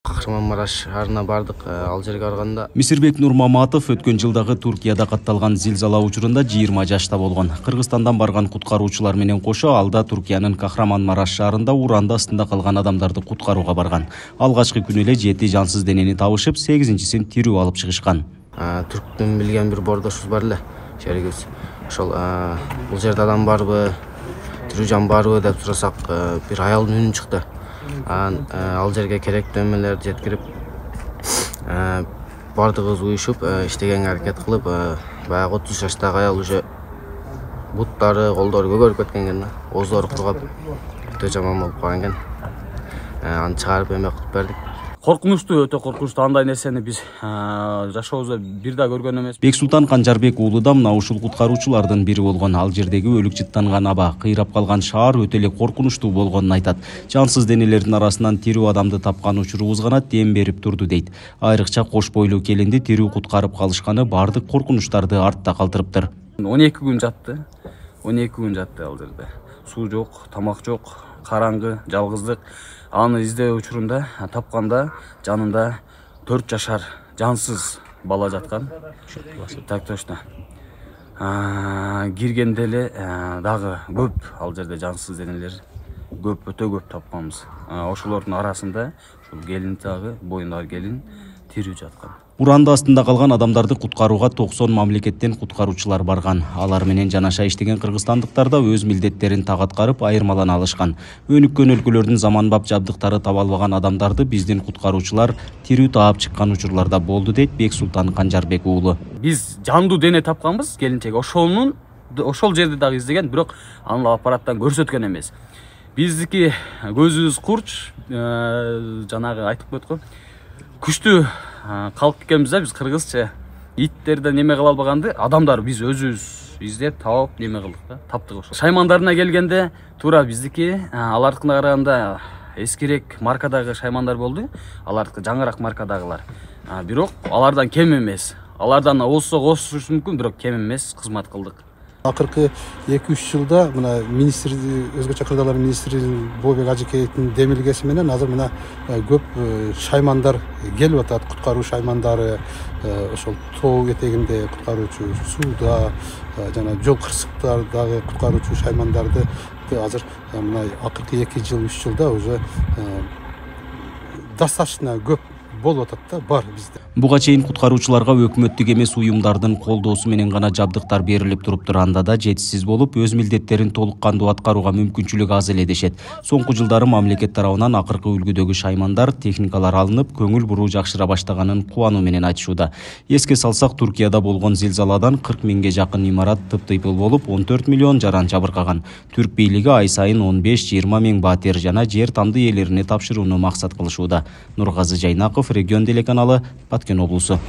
Кахраманмараш шаарына бардык. Ал жерге барганда Мисирбек Нурмаматов өткөн жылдагы Туркияда катталган зилзала учурунда 20 жашта болгон. Кыргызстандан барган куткаруучулар менен кошо алда Туркиянын Кахраманмараш шаарында уранды астында калган адамдарды куткарууга барган. Алгачкы күнү эле 7 жансыз денени табышып, 8-син тирүү алып чыгышкан. Түрктүн билген бир бордошубуз бар эле, шеригибиз. Ошол бул жерде адам барбы, тирүү жан барбы деп сурасак, бир аялдын үнү чыкты. Ал жерге керектүү эмелерди жеткирип, бардыгыбыз уюшуп, иштегенге аракет кылып, баягы 30 жаштагы аял уже буттары, колдору көгөрүп кеткен экен, ооздору кургап, өтө жаман болуп калган экен. Аны чыгарып эме кылып бердик. Коркунучтуу, өтө коркунучтуу. Андай нерсени биз жашообузда бир да көргөн эмес. Бексултан Канжарбек уулу да мына ушул куткаруучулардын бири болгон. Ал жердеги өлүк жыттанган аба, кыйрап калган шаар өтө эле коркунучтуу болгонун айтат. Жансыз денелердин арасынан тирүү адамды тапкан учурубуз гана дем берип турду дейт. Айрыкча кош бойлуу келинди тирүү куткарып калышканы бардык коркунучтарды артта калтырыптыр. 12 күн жатты. 12 күн жатты ал жерде. Суу жок, тамак жок, караңгы, жалгыздык. Аны издөө учурунда тапканда жанында 4 жашар жансыз бала жаткан. Так точно. Киргенде эле дагы көп ал жерде жансыз денелер көп, өтө көп тапканбыз. Ошолордун арасында ушул келин дагы, боюндагы келин тирүү жаткан. Уранды астында калган адамдарды куткарууга 90 мамлекеттен куткаруучулар барган. Алар менен жанаша иштеген кыргызстандыктар да өз милдеттерин так аткарып, айырмалана алышкан. Өнүккөн өлкөлөрдүн заманбап жабдыктары таба албаган адамдарды биздин куткаруучулар тирүү таап чыккан учурларда болду дейт Бексултан Канжарбек уулу. Биз жандуу дене тапканбыз, келинчек ошол жерде дагы издеген, бирок аны аппараттан көрсөткөн эмес. Биздики көзүбүз курч, жанагы айтып койт го. Күчтүү калк экенбиз да, биз кыргызча. Иттерден неме кыла албаганды, адамдар биз өзүбүз издеп, таап, неме кылдык да, таптык ошол. Шаймандарына келгенде, туура биздики алардыкына караганда эскирээк маркадагы шаймандар болду. Алардыкы жаңыраак маркадагылар. Бирок алардан кем эмес. Алардан осушу мүмкүн, бирок кем эмес кызмат кылдык. Акыркы 2-3 жылда мына министр, өзгөчө кырдаалар министри Бообек Ажыкеевдин демилгеси менен азыр мына көп шаймандар келип атат, куткаруу шаймандары, ошол тоо этегинде куткаруучу, сууда, жана жол кырсыктардагы куткаруучу шаймандарды азыр мына акыркы 2 жыл, 3 жылда уже достаточно көп болуп атат да, бар бизде. Буга чейин куткаруучуларга өкмөттүк эмес уюмдардын колдоосу менен гана жабдыктар берилип туруптур. Анда да жетишсиз болуп, өз милдеттерин толук кандуу аткарууга мүмкүнчүлүк аз эле дешет. Соңку жылдары мамлекет тарабынан акыркы үлгүдөгү шаймандар, техникалар алынып, көңүл буруу жакшыра баштаганын кубануу менен айтышууда. Эске салсак, Туркияда болгон зилзаладан 40 миңге жакын имарат тыптыйпыл болуп, 14 миллион жаран жабыркаган. Түрк бийлиги ай сайын 15-20 миң батир жана жер тамды ээлерине тапшырууну максат кылышууда. Нургазы Жайнаков, Регион телеканалы, Баткен облусу.